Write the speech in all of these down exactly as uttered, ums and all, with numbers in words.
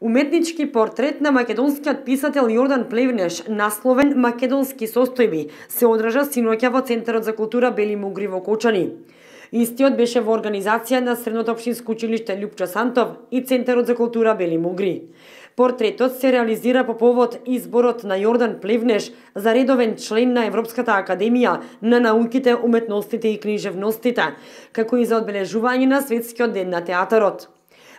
Уметнички портрет на македонскиот писател Јордан Плевнеш, насловен Македонски состојби, се одржа синоќа во Центарот за култура Бели Мугри во Кочани. Истиот беше во организација на Средното општинско училиште Лјупчо Сантов и Центарот за култура Бели Мугри. Портретот се реализира по повод изборот на Јордан Плевнеш за редовен член на Европската академија на науките, уметностите и книжевностите, како и за одбележување на Светскиот ден на театарот.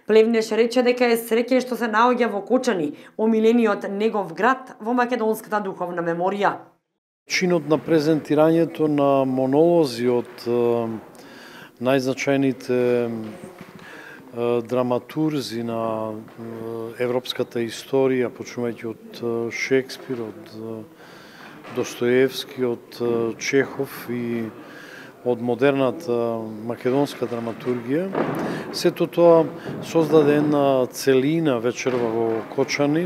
Плевнеш рече дека е среќен што се наоѓа во Кочани, омилениот негов град во македонската духовна меморија. Чинот на презентирањето на монолози од најзначајните драматурзи на европската историја, почнувајќи од Шекспир, од Достоевски, од Чехов и од модерната македонска драматургија. Сето тоа создаде една целина вечерва во Кочани,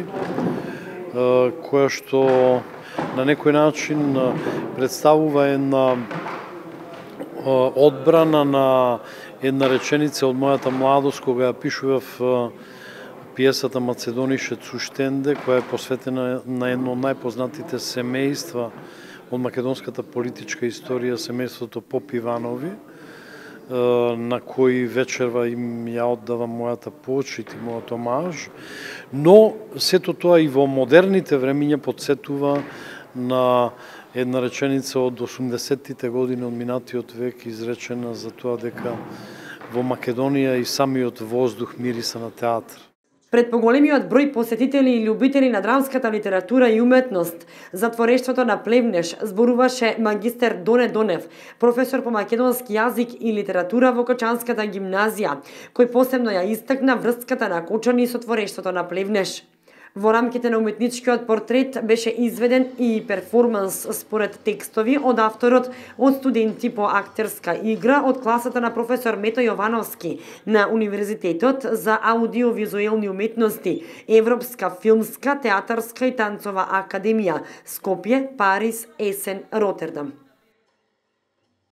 која што на некој начин представува една одбрана на една реченица од мојата младост, кога ја пишував пиесата Macedoniše Cuštende, која е посветена на едно од најпознатите семејства од македонската политичка историја, семејството Поп-Иванови, на кои вечерва им ја оддавам мојата почит и мојот омаж, но сето тоа и во модерните времиња потсетува на една реченица од осумдесеттите години од минатиот век, изречена за тоа дека во Македонија и самиот воздух мириса на театар. Пред поголемиот број посетители и љубители на драмската литература и уметност, за творештвото на Плевнеш зборуваше магистер Доне Донев, професор по македонски јазик и литература во Кочанската гимназија, кој посебно ја истакна врската на Кочани со творештвото на Плевнеш. Во рамките на уметничкиот портрет беше изведен и перформанс според текстови од авторот од студенти по актерска игра од класата на професор Мето Јовановски на Универзитетот за аудиовизуелни уметности, Европска филмска, театарска и танцова академија, Скопје, Париз, Есен, Ротердам.